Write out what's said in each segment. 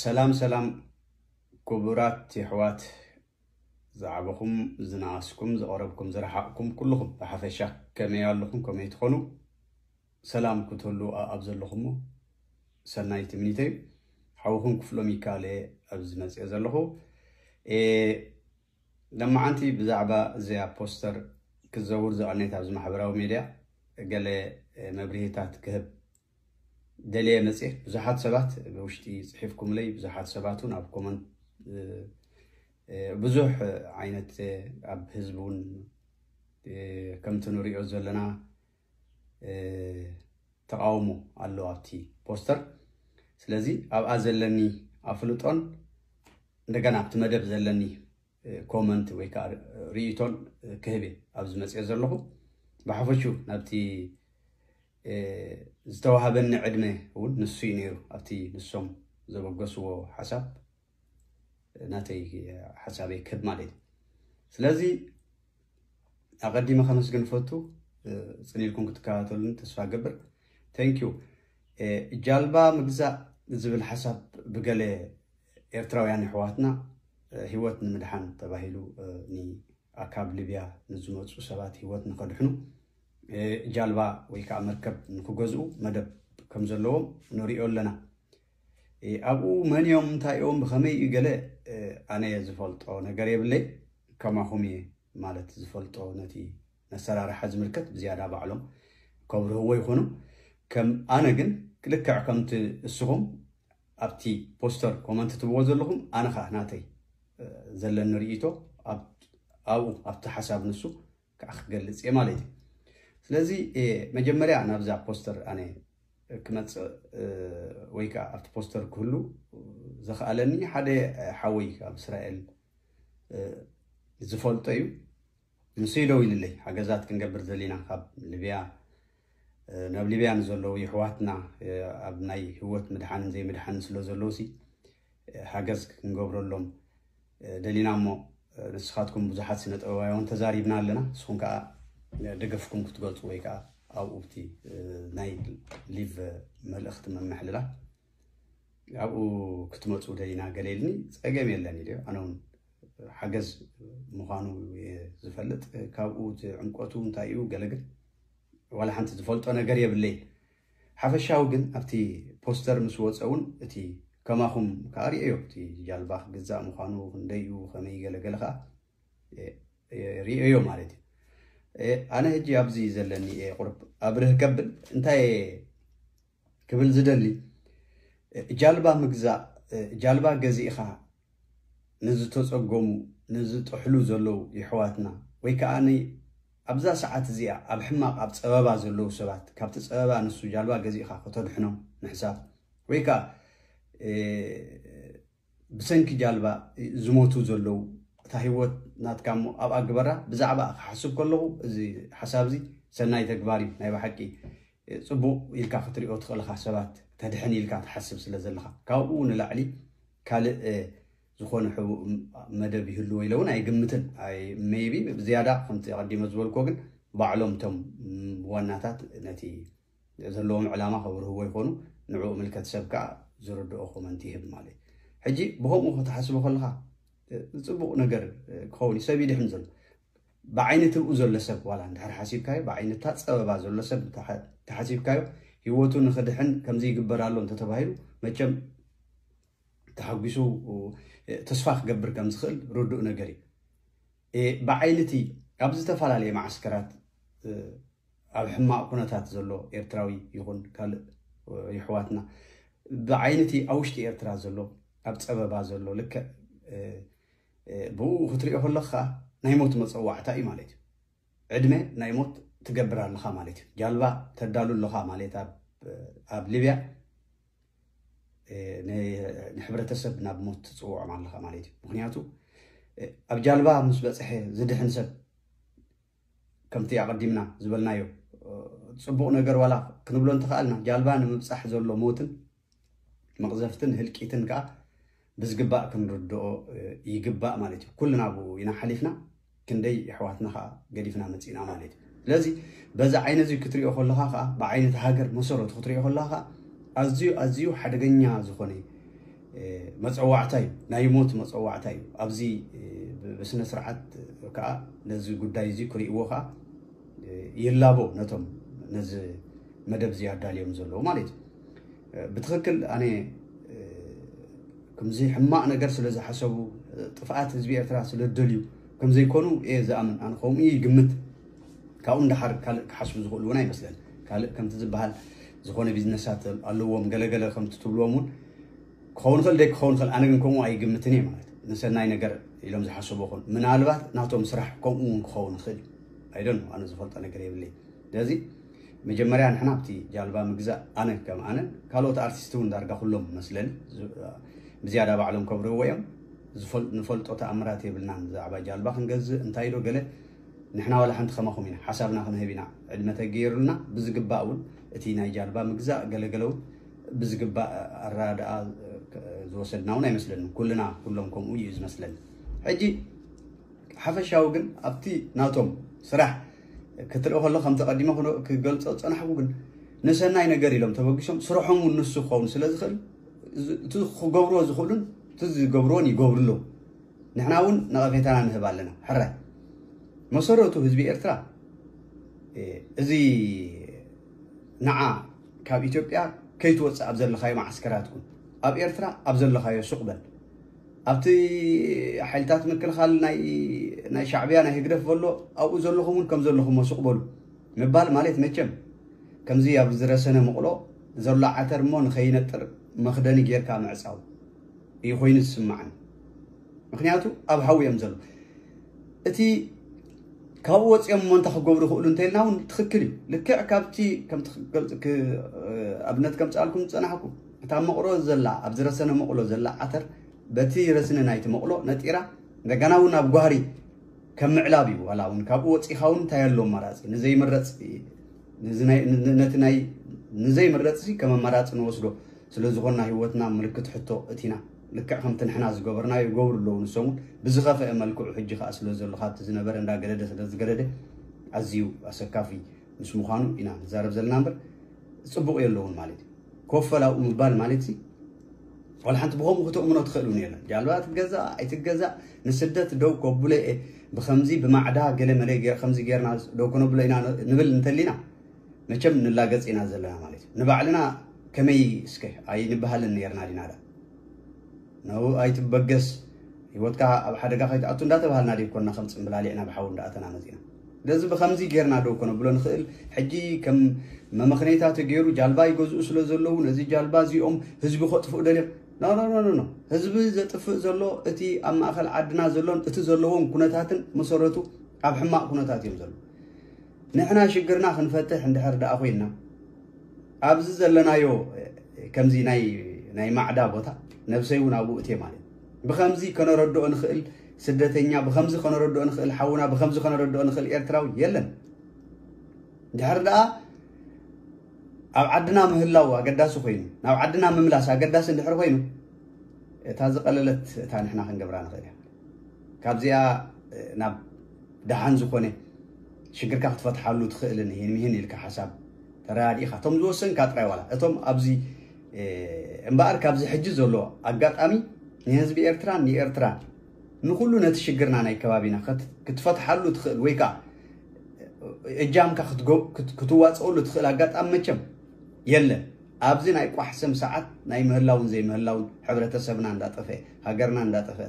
ሰላም ሰላም ክቡራት የሕዋት፣ ዝዓበኹም ዝነኣስኩም ዝቐረብኩም ዝረሓቕኩም ኩልኹም ብሓፈሻ ከመይ ኣለኹም? ከመይ ትኾኑ? ሰላም ክትህሉ ኣብ ዘለኹሞ ሰናይ ትምኒተይ። ሓውኹም ክፍሎም ይካለ ኣብዚ መፅኦ ዘለኹ። ለማዓንቲ ብዛዕባ እዚኣ ፖስተር ክዘውር ዝቐነየት ኣብዚ ማሕበራዊ ሜድያ ገለ መብርሂታት ክህብ ደልየ መፅእ። ብዙሓት ሰባት ብውሽጢ ፅሒፍኩምለይ፣ ብዙሓት ሰባት እውን ኣብ ኮመንት ብዙሕ ዓይነት ኣብ ህዝቢ እውን ከምቲ ንሪኦ ዘለና ተቃውሞ ኣሎ ኣብቲ ፖስተር። ስለዚ ኣብኣ ዘለኒ ኣፍልጦን እንደገና ኣብቲ መደብ ዘለኒ ኮመንት ወይ ከዓ ርእይቶን ክህብ እየ ኣብዚ መፅኦ ዘለኹ። ብሓፈሹ ናብቲ ዝተዋሃበኒ ዕድመ እውን ንሱ እዩ ነይሩ። ኣብቲ ንሶም ዘበገስዎ ሓሳብ ናተይ ሓሳበይ ክህብ ማለት እዩ። ስለዚ ኣቐዲመ ከመስግን ፈቱ። ፅን ኢልኩም ክትከታተሉን ተስፋ ገብር። Thank you። ጃልባ ምግዛእ ዝብል ሓሳብ ብገለ ኤርትራውያን ኣሕዋትና ህይወት ንምድሓን ተባሂሉ ካብ ሊብያ ንዝመፁ ሰባት ህይወት ንኸድሕኑ ጃልባ ወይ ከዓ መርከብ ንክገዝኡ መደብ ከም ዘለዎም ንሪኦ ኣለና። ኣብኡ መን እዮም፣ እንታይ እዮም፣ ብኸመይ እዩ ገለ ኣነ ዝፈልጦ ነገር የብለይ። ከማኹም እየ ማለት ዝፈልጦ፣ ነቲ መሰራርሓ ዝምልከት ብዝያዳ ባዕሎም ከብርህዎ ይኾኑ። ከም ኣነ ግን ልክዕ ከምቲ እስኹም ኣብቲ ፖስተር ኮመንት ትብዎ ዘለኹም፣ ኣነ ኸዓ ናተይ ዘለኒ ርእይቶ ኣብኡ ኣብቲ ሓሳብ ንሱ ከዓ ክገልፅ እየ ማለት እዩ። ስለዚ መጀመርያ ናብዛ ፖስተር ኣነ ክመፅእ ወይ ከዓ ኣብቲ ፖስተር ክህሉ ዘኽኣለኒ ሓደ ሓወይ ኣብ እስራኤል ዝፈልጦ እዩ። ንሱ እዩ ደው ኢልለይ፣ ሓገዛት ክንገብር ደሊና ካብ ሊብያ ናብ ሊብያ ንዘለዉ የሕዋትና ኣብ ናይ ህይወት ምድሓንን ዘይምድሓንን ስለ ዘለዉ ሲ ሓገዝ ክንገብረሎም ደሊና እሞ ንስኻትኩም ብዙሓት ስነ ጥበባውያን ተዛሪብና ኣለና። ንስኹም ከዓ ደገፍኩም ክትገልፁ ወይ ከዓ ኣብኡ ብቲ ናይ ሊቭ መልእኽቲ መምሕልላ ኣብኡ ክትመፁ ደሊና ገለ ኢልኒ። ፀገም የለን ኢሉ። ኣነ እውን ሓገዝ ምዃኑ እየ ዝፈልጥ። ካብኡ እቲ ዕምቆቱ እንታይ እዩ ገለ ግን ዋላ ሓንቲ ዝፈልጦ ነገር የብለይን። ሓፈሻዊ ግን ኣብቲ ፖስተር ምስ ወፀ እውን እቲ ከማኹም ከዓ ርእዮ፣ እቲ ጃልባ ክግዛእ ምዃኑ ክንደይ እዩ፣ ከመይ ገለ ገለ ከዓ ርእዮ ማለት እዩ። ኣነ ሕጂ ኣብዚ ዘለኒ እየ ቁርብ ኣብርህ ከብል እንታይ ክብል ዝደሊ፣ ጃልባ ምግዛእ፣ ጃልባ ገዚእኻ ንዝተፀገሙ ንዝጥሕሉ ዘለዉ የሕዋትና ወይ ከዓ ኣብዛ ሰዓት እዚኣ ኣብ ሕማቕ ኣብ ፀበባ ዘለዉ ሰባት ካብቲ ፀበባ ንሱ ጃልባ ገዚእኻ ከተድሕኖም ምሕሳብ ወይ ከዓ ብሰንኪ ጃልባ ዝሞቱ ዘለዉ እታ ህይወት ናትካ እሞ ኣብኣ ግበራ። ብዛዕባ ክሓስብ ከለኹ እዚ ሓሳብ እዚ ሰናይ ተግባር እዩ። ናይ ብሓቂ ፅቡቕ ኢልካ ክትሪኦ ትኽእልኻ ሰባት ተድሕን ኢልካ ትሓስብ ስለ ዘለኻ ካብኡ ንላዕሊ ካልእ ዝኾነ ሕቡእ መደብ ይህሉ ወይ ኢለ እውን ኣይግምትን። ሜይቢ ብዝያዳ ከምቲ ኣቐዲመ ዝበልኮ ግን ባዕሎም እቶም ዋናታት ነቲ ዘለዎም ዕላማ ከብርህዎ ይኾኑ። ንዕኡ ምልከት ሰብ ከዓ ዝርድኦ ኮመንት ይህብ ማለት እዩ። ሕጂ ብኸምኡ ከተሓስቦ ከለኻ ፅቡቕ ነገር ክኸውን እዩ። ሰብ ይድሕን ዘሎ ብዓይኒ ትብኡ ዘሎ ሰብ ዋላ እንድሕር ሓሲብካዮ ብዓይኒ እታ ፀበባ ዘሎ ሰብ ተሓሲብካዮ ህይወቱ ንክድሕን ከምዚ ይግበር ኣሎ እንተተባሂሉ መቸም ተሓጒሱ ተስፋ ክገብር ከም ዝኽእል ርዱእ ነገር እዩ። ብዓይኒ እቲ ኣብ ዝተፈላለየ መዓስከራት ኣብ ሕማቕ ኩነታት ዘሎ ኤርትራዊ ይኹን ካልእ የሕዋትና ብዓይኒ እቲ ኣብ ውሽጢ ኤርትራ ዘሎ ኣብ ፀበባ ዘሎ ልክዕ ብኡ ክትሪኦ ከለኻ ናይ ሞት መፀዋዕታ እዩ ማለት እዩ። ዕድመ ናይ ሞት ትገብር ኣለኻ ማለት እዩ። ጃልባ ተዳሉ ኣለኻ ማለት ኣብ ሊብያ ንሕብረተሰብ ናብ ሞት ትፅውዖም ኣለኻ ማለት እዩ። ምክንያቱ ኣብ ጃልባ ምስ በፅሐ ዝድሕን ሰብ ከምቲ ኣቐዲምና ዝበልናዮ ፅቡቕ ነገር ዋላ ክንብሎ እንተኽኣልና ጃልባ ንምብፃሕ ዘሎ ሞትን መቕዘፍትን ህልቂትን ከዓ ብዝግባእ ክንርድኦ ይግባእ ማለት እዩ። ኩልና ብኡ ኢና ሓሊፍና ክንደይ የሕዋትና ከዓ ገዲፍና መፂእና ማለት እዩ። ስለዚ በዚ ዓይነ እዚ ክትሪኦ ከለኻ ከዓ ብዓይነት ሃገር መሰረቱ ክትሪኦ ከለኻ ከዓ ኣዝዩ ኣዝዩ ሓደገኛ ዝኾነ መፀዋዕታ እዩ፣ ናይ ሞት መፀዋዕታ እዩ። ኣብዚ ብስነ ስርዓት ከዓ ነዚ ጉዳይ እዚ ክርእይዎ ከዓ ይላቦ ነቶም ነዚ መደብ እዚ ኣዳልዮም ዘለዉ ማለት እዩ። ብትኽክል ኣነ ከምዚ ሕማቕ ነገር ስለ ዝሓሰቡ፣ ጥፍኣት ህዝቢ ኤርትራ ስለ ዝደልዩ ከም ዘይኮኑ እየ ዝኣምን። ኣነ ከምኡ ይግምት። ካብኡ ንደሓር ካልእ ክሓስቡ ዝኽእሉ እውን ኣይመስለን። ካልእ ከምቲ ዝበሃል ዝኾነ ቢዝነሳት ኣለዎም፣ ገለገለ ከምቲ ትብልዎም እውን ክኸውን ይኽእል፣ ደይ ክኸውን ይኽእል። ኣነ ግን ከምኡ ኣይግምትን እየ ማለት፣ ንሰናይ ነገር ኢሎም ዝሓስቡ ኾን ምናልባት ናቶም ስራሕ ከምኡ እውን ክኸውን ይኽእል እዩ። ኣይደን ኣነ ዝፈልጦ ነገር የብለይ። ስለዚ መጀመርያ ንሕና ኣብቲ ጃልባ ምግዛእ፣ ኣነ ከም ኣነ፣ ካልኦት ኣርቲስት እውን ዳርጋ ኩሎም መስለኒ ብዝያዳ ባዕሎም ከብርህዎ እዮም። ንፈልጦ ተኣምራት የብልናን። ብዛዕባ ጃልባ ክንገዝእ እንታይ ዶ ገለ፣ ንሕና ዋላ ሓንቲ ከማኹም ኢና፣ ሓሳብና ክንህብ ኢና። ዕድመ ተገይሩልና ብዝግባእ እውን እቲ ናይ ጃልባ ምግዛእ ገለገለ እውን ብዝግባእ ኣረዳድኣ ዝወሰድና እውን ኣይመስለንን። ኩልና ኩሎም ከምኡ እዩ ዝመስለኒ። ሕጂ ሓፈሻዊ ግን ኣብቲ ናቶም ስራሕ ክትርኢ ከሎ ከምቲ ቀዲመ ክገልጾ ዝጸናሕኩ ግን ንሰናይ ነገር ኢሎም ተበጊሶም ስርሖም እውን ንሱ ክኸውን ስለ ዝኽእል እቲ ክገብርዎ ዝኽእሉን እቲ ዝገብርዎን ይገብሩ ኣለዉ። ንሕና እውን ነቐፌታና ንህብ ኣለና። ሕራይ መሰረቱ ህዝቢ ኤርትራ እዚ ንዓ ካብ ኢትዮጵያ ከይትወፅእ ኣብ ዘለኻዮ መዓስከራት ኩን፣ ኣብ ኤርትራ ኣብ ዘለኻዮ ሱቕ በል። ኣብቲ ሓይልታት ምክልኻል ናይ ሻዕብያ ናይ ህግደፍ ዘሎ ኣብኡ ዘለኹም እውን ከም ዘለኹም ሱቕ በሉ ምባል ማለት መቸም ከምዚ ኣብ ዝረሰነ መቕሎ ዘሎ ዓተር እሞ ንኸይነጥር መኽደኒ ጌርካ ምዕፃው እዩ ኮይኑ ዝስማዓኒ። ምክንያቱ ኣብ ሓዊ እዮም ዘሎ። እቲ ካብኡ ወፂኦም እሞ እንታይ ክገብሩ ይኽእሉ እንተኢልና እውን ትኽክል እዩ። ልክዕ ካብቲ ኣብነት ከምፅኣልኩም ዝፀናሕኩ እታ መቕሎ ዘላ ኣብ ዝረሰነ መቕሎ ዘላ ዓተር በቲ ረስኒ ናይቲ መቕሎ ነጢራ እንደገና እውን ኣብ ጓህሪ ከም ምዕላብ እዩ። ዋላ እውን ካብኡ ወፂኻ እውን እንታይ ኣሎ ኣማራፂ ንዘይምረፅ ነቲ ናይ ንዘይምረፅ ከም ኣማራፂ ንወስዶ ስለ ዝኾንና ህይወትና ምልክት ሕቶ እቲና ልክዕ ከምቲ ንሕና ዝገበርናዮ ይገብሩ ኣለዉ ንሶም እውን ብዝኸፍአ መልክዑ ሕጂ ከዓ ስለ ዘሎ ካብቲ ዝነበረ እንዳገደደ ስለ ዝገደደ ኣዝዩ ኣሰካፊ ምስ ምዃኑ ኢና ንዛረብ ዘለና እምበር ፅቡቕ የለውን ማለት እዩ። ኮፈል ኣብኡ ምባል ማለት ሲ ዋላ ሓንቲ ብኸምኡ ክተእምኖ ትኽእል እውን የለን። ጃልባ ትገዛእ ኣይትገዛእ ንስደት ደው ከብሎ እየ ብኸምዚ ብማዕዳ ገለ መለ ከምዚ ጌርና ደው ከነብሎ ኢና ንብል እንተሊና መቸም ንላገጽ ኢና ዘለና ማለት እዩ። ንባዕልና ከመይ እስከ ኣይንበሃልን ነርና ዲና ዳ? ነው ኣይትበገስ፣ ህይወትካ ኣብ ሓደጋ ከይትኣቱ እንዳተባሃልና ደይኮንና ከም ጽምብላሊዕ ናብ ሓዊ እንዳኣተና መጺና። ስለዚ ብኸምዚ ጌርና ዶ ከነብሎ ንኽእል? ሕጂ ከም መመኽነይታ ተገይሩ ጃልባ ይገዝኡ ስለ ዘለዉ ነዚ ጃልባ እዚኦም ህዝቢ ከጥፍኡ ደልዮም ኖ ኖ ኖ ኖ። ህዝቢ ዘጥፍእ ዘሎ እቲ ኣብ ማእኸል ዓድና ዘሎን እቲ ዘለዎም ኩነታትን መሰረቱ ኣብ ሕማቕ ኩነታት እዮም ዘለዉ። ንሕና ሽግርና ክንፈትሕ እንድሕር ደኣ ኮይንና ኣብዚ ዘለናዮ ከምዚ ናይ ናይ ማዕዳ ቦታ ነብሰይ እውን ኣብኡ እትየ ማለት እዩ። ብከምዚ ከነረድኦ ንኽእል ስደተኛ ብከምዚ ከነረድኦ ንኽእል ሓውና ብከምዚ ከነረድኦ ንኽእል ኤርትራዊ የለን። እንድሕር ደኣ ኣብ ዓድና ምህላው ኣገዳሲ ኮይኑ ናብ ዓድና ምምላስ ኣገዳሲ እንድሕር ኮይኑ እታ ዝቐለለት እታ ንሕና ክንገብራ ንኽእል ኢና። ካብዚኣ ናብ ደሓን ዝኾነ ሽግርካ ክትፈትሓሉ ትኽእልን ይህን ይህን ኢልካ ሓሳብ ተረዳዲእካ እቶም ዝወሰንካ ጥራይ ዋላ እቶም ኣብዚ እምበኣር ካብዚ ሕጂ ዘሎ ኣጋጣሚ ንህዝቢ ኤርትራን ንኤርትራን ንኩሉ ነቲ ሽግርና ናይ ከባቢና ክትፈትሓሉ ትኽእል ወይ ከዓ እጃምካ ክትዋፀሉ ትኽእል ኣጋጣሚ መቸም የለን። ኣብዚ ናይ ቋሕ ስም ሰዓት ናይ ምህላውን ዘይምህላውን ሕብረተሰብና እንዳጠፈ ሃገርና እንዳጠፈ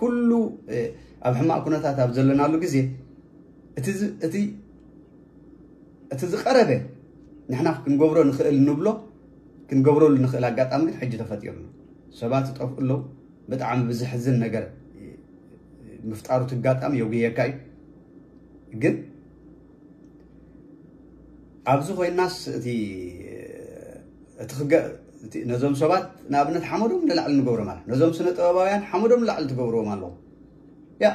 ኩሉ ኣብ ሕማቕ ኩነታት ኣብ ዘለናሉ ግዜ እቲ ዝቐረበ ንሕና ክንገብሮ ንኽእል ንብሎ ክንገብረሉ ንኽእል ኣጋጣሚ ግን ሕጂ ተፈጢሩ ኣሎ። ሰባት ይጠፍኡ ኣለዉ። ብጣዕሚ ብዝሕዝን ነገር ምፍጣሩ ትጋጣሚ የጉየካ እዩ። ግን ኣብዚ ኮይናስ እቲ ነዞም ሰባት ንኣብነት ሓመዶም ንላዕሊ ንገብሮም ኣለ ነዞም ስነ ጥበባውያን ሓመዶም ንላዕሊ ትገብርዎም ኣለዉ። ያ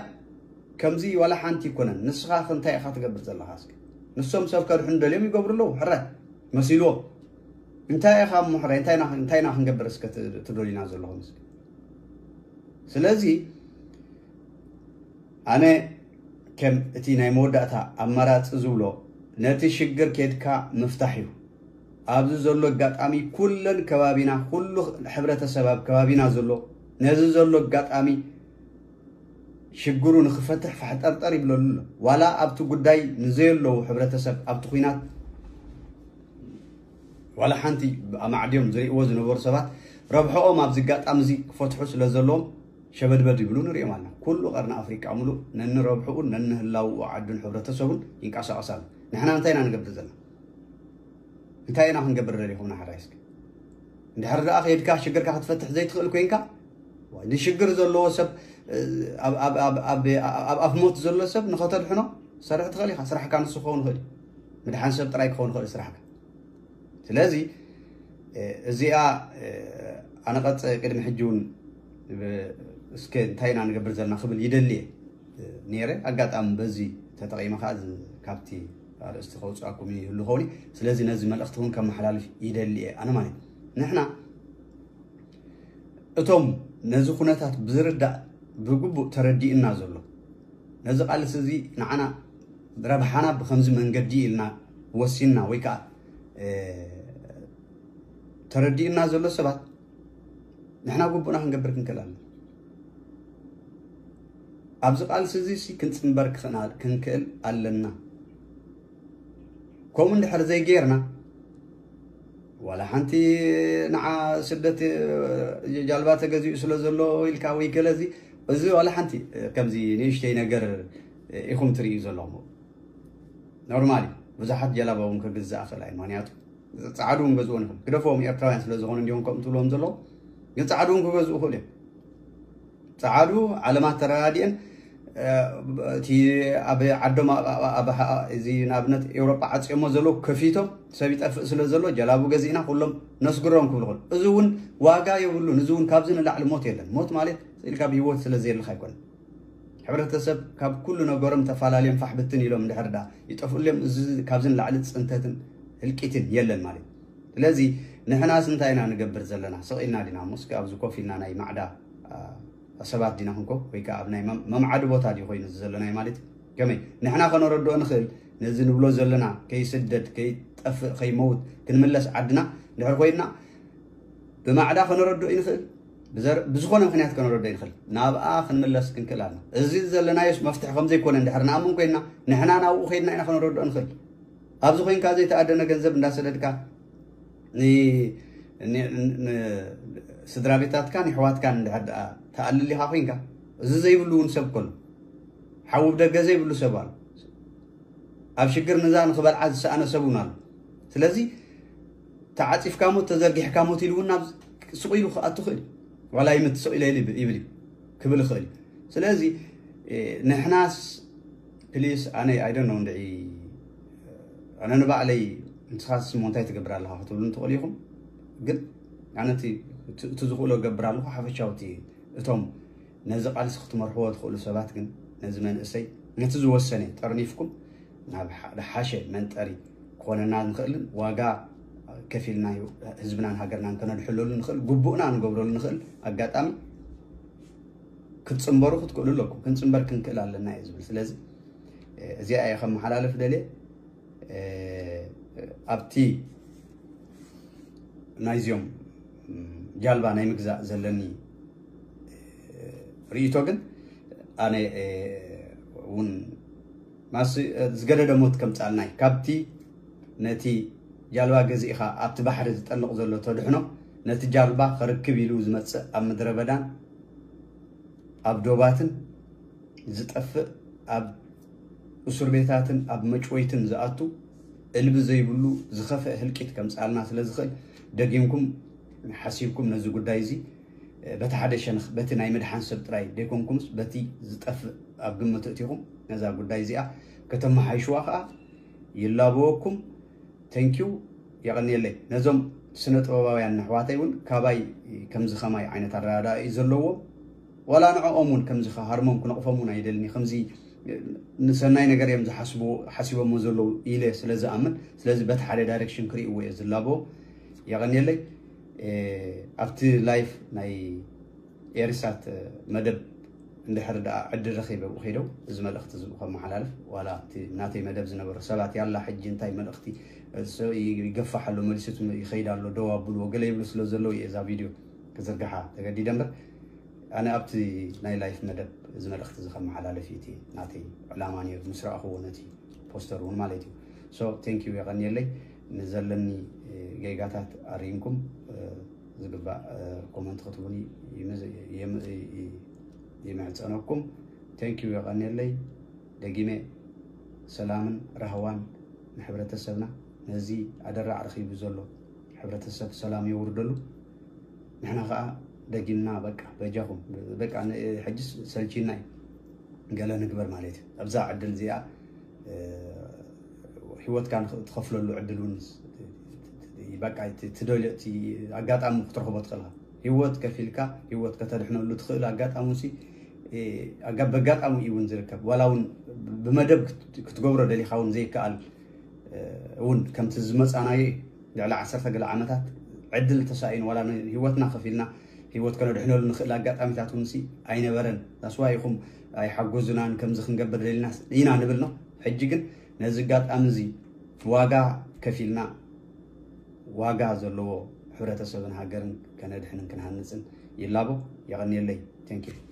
ከምዚ ዋላ ሓንቲ ይኮነን። ንስኻ እንታይ ኢኻ ትገብር ዘለኻ? እስኪ ንሶም ሰብ ከድሕኑ ደልዮም ይገብሩ ኣለዉ። ሕረ መሲልዎም እንታይ ኢኻ እሞ ሕረ እንታይ ኢና ክንገብር እስከ ትደልዩና ዘለኹም? እስኪ ስለዚ ኣነ ከም እቲ ናይ መወዳእታ ኣማራፂ ዝብሎ ነቲ ሽግር ኬድካ ምፍታሕ እዩ። ኣብዚ ዘሎ ኣጋጣሚ ኩለን ከባቢና፣ ኩሉ ሕብረተሰብ ኣብ ከባቢና ዘሎ ነዚ ዘሎ ኣጋጣሚ ሽግሩ ንክፈትሕ ፋሕጠርጠር ይብለሉ ኣሎ። ዋላ ኣብቲ ጉዳይ ንዘየለዉ ሕብረተሰብ ኣብቲ ኲናት ዋላ ሓንቲ ኣማዕድዮም ዝርእይዎ ዝነበሩ ሰባት ረብሕኦም ኣብዚ ኣጋጣሚ እዚ ክፈትሑ ስለ ዘለዎም ሸበድበድ ይብሉ ንሪኦም ኣለና። ኩሉ ቀርኒ ኣፍሪቃ ሙሉእ ነንረብሕኡን ነንህላውኡ ዓዱን ሕብረተሰቡን ይንቀሳቐስ ኣሎ። ንሕና እንታይ ኢና ንገብር ዘለና? እንታይ ኢና ክንገብር ደሊኹም ንሓራይ እስኪ? እንድሕር ደኣ ከይድካ ሽግርካ ክትፈትሕ ዘይትኽእል ኮይንካ፣ ዋይ፣ ንሽግር ዘለዎ ሰብ፣ ኣብ ኣፍ ሞት ዘሎ ሰብ ንኸተድሕኖ ሰርሕ ትኽእል ኢኻ። ስራሕካ ንሱ ክኸውን ይኽእል እዩ። ምድሓን ሰብ ጥራይ ክኸውን ይኽእል እዩ ስራሕካ። ስለዚ እዚኣ ኣነቐጸ ቅድሚ ሕጂ እውን እስከ እንታይ ኢና ንገብር ዘለና ክብል ይደሊ እየ ነይረ። ኣጋጣሚ በዚ ተጠቒመ ከዓ ካብቲ ኣርእስቲ ከውፅኣኩም ይህሉ ኸውን። ስለዚ ነዚ መልእኽቲ እውን ከመሓላልፍ ይደሊ እየ ኣነ ማለት እዩ። ንሕና እቶም ነዚ ኩነታት ብዝርዳእ ብግቡእ ተረዲእና ዘሎ ነዚ ቃልሲ እዚ ንዓና ረብሓና ብከምዚ መንገዲ ኢልና ወሲንና ወይ ከዓ ተረዲእና ዘሎ ሰባት ንሕና ግቡእና ክንገብር ክንክእል ኣለና። ኣብዚ ቃልሲ እዚ ሲ ክንፅንበር ክኽና- ክንክእል ኣለና። ከምኡ እንድሕር ዘይጌርና ዋላ ሓንቲ ንዓ ስደት ጃልባ ተገዚኡ ስለ ዘሎ ኢልካ ወይ ገለዚ እዚ ዋላ ሓንቲ ከምዚ ንእሽተይ ነገር ኢኹም ትርእዩ ዘለኹም። ኖርማል እዩ። ብዙሓት ጀላባ እውን ክግዛእ ክእል እዩ። ምክንያቱ ፃዕዱ እውን ገዝኡ ንኽእል ግደፎም ኤርትራውያን ስለ ዝኾኑ እንዲሆም ከምኡ ትብሎም ዘለዉ ግን ፃዕዱ እውን ክገዝኡ ክእል እዮም። ፃዕዱ ዓለማት ተረዳዲአን እቲ ኣብ ዓዶም እዚ ንኣብነት ኤውሮጳ ዓፅዮሞ ዘለዉ ከፊቶም ሰብ ይጠፍእ ስለ ዘሎ ጀላቡ ገዚእና ኩሎም ነስግሮም ክብሉ ክእል። እዚ እውን ዋጋ የብሉን። እዚ እውን ካብዚ ንላዕሊ ሞት የለን። ሞት ማለት ስኢልካ ብህይወት ስለ ዘየልካ ኣይኮነን። ሕብረተሰብ ካብ ኩሉ ነገሮም ተፈላለዮም ፋሕ ብትን ኢሎም እንድሕር ዳ ይጠፍእሎም እዚ ካብዚ ንላዕሊ ፅንተትን ህልቂትን የለን ማለት እዩ። ስለዚ ንሕናስ እንታይ ኢና ንገብር ዘለና? ስቕ ኢልና ዲና እሞ እስኪ ኣብዚ ኮፍ ኢልና ናይ ማዕዳ ሰባት ዲና ክንኮ ወይ ከዓ ኣብ ናይ መምዓዲ ቦታ ድዩ ኮይኑ እዚ ዘለናይ ማለት እዩ። ከመይ ንሕና ከነረድኦ ንኽእል ነዚ ንብሎ ዘለና ከይስደድ ከይጠፍእ ከይመውት ክንምለስ ዓድና እንድሕር ኮይንና ብማዕዳ ከነረድኦ ይንኽእል። ብዝኾነ ምክንያት ከነረድኦ ይንኽእል። ናብኣ ክንምለስ ክንክእል ኣለና። እዚ ዘለናዮስ መፍትሒ ከምዘይኮነ እንድሕር ንኣምን ኮይንና ንሕና ናብኡ ከይድና ኢና ከነረድኦ ንኽእል። ኣብዚ ኮይንካ ዘይተኣደነ ገንዘብ እንዳሰደድካ ስድራ ቤታትካን ይሕዋትካን እንድሕር ደኣ ተኣልሊኻ ኮይንካ እዚ ዘይብሉ እውን ሰብ ከሎ ሓዊ ብደገ ዘይብሉ ሰብ ኣሎ። ኣብ ሽግር ንዛ ንክበልዓ ዝሰኣነ ሰብ እውን ኣሎ። ስለዚ ተዓፂፍካ ሞት ተዘርጊሕካ ሞት ኢሉ እውን ናብ ስቕ ኢሉ ክኣቱ ክእል እዩ። ዋላ ይምት ስቕ ኢለ ይብል እዩ ክብል ይኽእል እዩ። ስለዚ ንሕናስ ፕሊስ ኣነ ኣይደኖ እንድዒ ኣነ ንባዕለይ ንስኻስ ስሞ እንታይ ትገብር ኣለኻ ክትብሉ ትኽእሉ ኢኹም። ግን ኣነ እቲ ዝኽእሎ ገብር ኣለኹ። ሓፈሻውቲ እቶም ነዚ ቃልሲ ክትመርሕዎ ትኽእሉ ሰባት ግን ነዚ መንእሰይ ነቲ ዝወሰነ ጠርኒፍኩም ናብ ዝሓሸ መንጠሪ ክኾነና ንኽእልን ዋጋ ከፊልና ህዝብናን ሃገርናን ከነድሕለሉ ንኽእል ግቡእና ንገብረሉ ንኽእል ኣጋጣሚ ክትፅንበሩ ክትክእሉ ኣለኩም። ክንፅንበር ክንክእል ኣለና እዩ ዝብል። ስለዚ እዚኣ እየ ከመሓላልፍ ደልየ። ኣብቲ ናይዚኦም ጃልባ ናይ ምግዛእ ዘለኒ ርእይቶ ግን ኣነ እውን ማስ ዝገደደ ሞት ከምፃልና እዩ። ካብቲ ነቲ ጃልባ ገዚእኻ ኣብቲ ባሕሪ ዝጠልቕ ዘሎ ተድሕኖ ነቲ ጃልባ ክርክብ ኢሉ ዝመፅእ ኣብ ምድረ በዳን ኣብ ዶባትን ዝጠፍእ ኣብ እሱር ቤታትን ኣብ መጭወይትን ዝኣቱ እልቢ ዘይብሉ ዝኸፍአ ህልቂት ከምፅኣልና ስለ ዝኽእል ደጊምኩም ሓሲብኩም ነዚ ጉዳይ እዚ በቲ ሓደ ሸነኽ በቲ ናይ ምድሓን ሰብ ጥራይ ደይኮንኩምስ በቲ ዝጠፍእ ኣብ ግምት እቲኹም ነዛ ጉዳይ እዚኣ ከተመሓይሽዋ ከዓ ይላበወኩም። ተንኪዩ የቐንየለይ። ነዞም ስነ ጥበባውያን ኣሕዋተይ እውን ካባይ ከምዚ ከማይ ዓይነት ኣረዳድኣ እዩ ዘለዎም። ዋላ ንዕኦም እውን ከምዚ ሃርሞም ክነቕፎም እውን ኣይደልን። ከምዚ ንሰናይ ነገር እዮም ዝሓስቡ ሓሲቦሞ ዘለዉ ኢለ ስለ ዝኣምን ስለዚ በቲ ሓደ ዳይሬክሽን ክርእይዎ እየ ዝላቦ። የቐንየለይ። ኣብቲ ላይፍ ናይ ኤሪሳት መደብ እንድሕር ደኣ ዕድል ረኺበ ብኡ ከይደው እዚ መልእኽቲ እዚ ብኡ ከመሓላልፍ ዋላ እቲ ናተይ መደብ ዝነበሩ ሰባት ያላ ሕጂ እንታይ መልእኽቲ ይገፋሕ ኣሎ፣ መሊሱ ይኸይድ ኣሎ፣ ደው ኣብልዎ ገለ ይብሉ ስለ ዘለዉ እየ እዛ ቪድዮ ክዝርግሓ ተገዲደ እምበር፣ ኣነ ኣብቲ ናይ ላይፍ መደብ እዚ መልእኽቲ እዚ ከመሓላልፍ እዩ እቲ ናተይ ዕላማ ነይሩ፣ ምስ ረኣኽዎ ነቲ ፖስተር እውን ማለት እዩ። So thank you፣ የቐንየለይ። ንዘለኒ ጌጋታት ኣሪምኩም ዝግባእ ኮመንት ክትቡኒ ይምሕፀነኩም። Thank you፣ የቐንየለይ። ደጊመ ሰላምን ራህዋን ንሕብረተሰብና፣ ነዚ ኣደራዕ ረኺቡ ዘሎ ሕብረተሰብ ሰላም የውርደሉ። ንሕና ከዓ ደጊምና በቃ በጃኹም በቃ ሕጅስ ሰልቺና እዩ ገለ ንግበር ማለት እዩ። ኣብዛ ዕድል እዚኣ ህይወትካ ትኸፍለሉ ዕድል እውን በቃ ትደልዮ ኣጋጣሚ ክትረኽቦ ትኽእልካ። ህይወት ከፊልካ ህይወት ከተድሕነሉ ትኽእል ኣጋጣሚ ሲ በጋጣሚ እዩ እውን ዝርከብ። ዋላ እውን ብመደብ ክትገብሮ ደሊኻ እውን ዘይከኣል እውን ከምቲ ዝመፃናዮ እዩ። ልዕሊ ዓሰርተ ገለ ዓመታት ዕድል ተሳኢኑ ዋላ ህይወትና ከፊልና ህይወት ከነድሕነሉ ንኽእል ኣጋጣሚታት እውን ሲ ኣይነበረን። ዳስዋ ኢኹም ኣይሓጎዙናን ከምዚ ክንገብር ደሊና ኢና ንብል ነው። ሕጂ ግን ነዚ ኣጋጣሚ እዚ ዋጋ ከፊልና ዋጋ ዘለዎ ሕብረተሰብን ሃገርን ከነድሕንን ክንሃንፅን ይላቦ። የቐንየለይ። Thank you።